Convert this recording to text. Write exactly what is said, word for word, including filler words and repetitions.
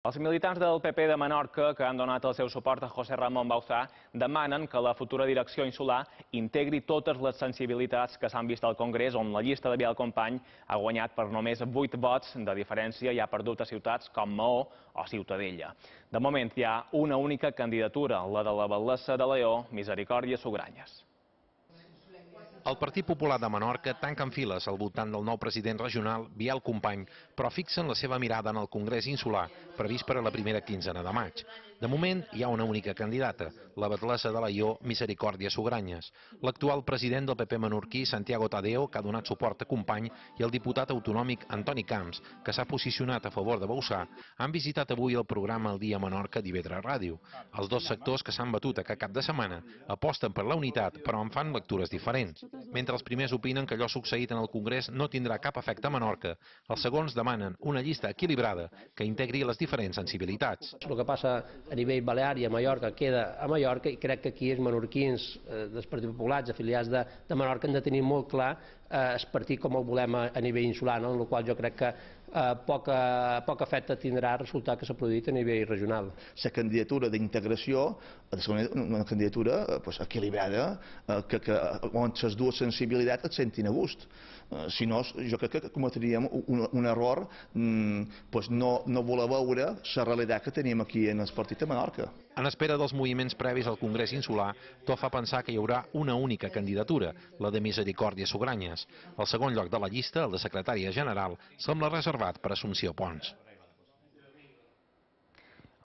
Els militants del P P de Menorca, que han donat el seu suport a José Ramón Bauzá, demanen que la futura direcció insular integri totes les sensibilitats que s'han vist al Congrés, on la llista de Biel Company ha guanyat per només vuit vots de diferència i ha perdut a ciutats com Maó o Ciutadella. De moment hi ha una única candidatura, la de la batllessa de Lleó, Misericòrdia Sugranyes. El Partit Popular de Menorca tanca en files al voltant del nou president regional, Biel Company, però fixen la seva mirada en el Congrés Insular, previst per a la primera quinzena de maig. De moment, hi ha una única candidata, la batllessa de Lleó, Misericòrdia Sugranyes. L'actual president del P P menorquí, Santiago Tadeo, que ha donat suport a Company, i el diputat autonòmic Antoni Camps, que s'ha posicionat a favor de Bauzá, han visitat avui el programa El Dia Menorca d'I V tres Ràdio. Els dos sectors que s'han batut aquest cap de setmana aposten per la unitat, però en fan lectures diferents. Mentre els primers opinen que allò succeït en el Congrés no tindrà cap efecte a Menorca, els segons demanen una llista equilibrada que integri les diferents sensibilitats. El que passa a nivell balear i a Mallorca queda a Mallorca, i crec que aquí els menorquins eh, dels partits populars afiliats de, de Menorca han de tenir molt clar eh, el partit com el volem a, a nivell insular, no? En el qual jo crec que eh, poc, poc efecte tindrà el resultat que s'ha produït a nivell regional. La candidatura d'integració ha de ser una, una candidatura eh, pues, equilibrada, eh, que, que on les dues sensibilitats et sentin a gust. Eh, si no, jo crec que cometríem un, un error mm, pues no, no voler veure la realitat que tenim aquí en el partit de Menorca. En espera dels moviments previs al Congrés Insular, tot fa pensar que hi haurà una única candidatura, la de Misericòrdia Sugranyes. El segon lloc de la llista, el de secretària general, sembla reservat per Assumpció Pons.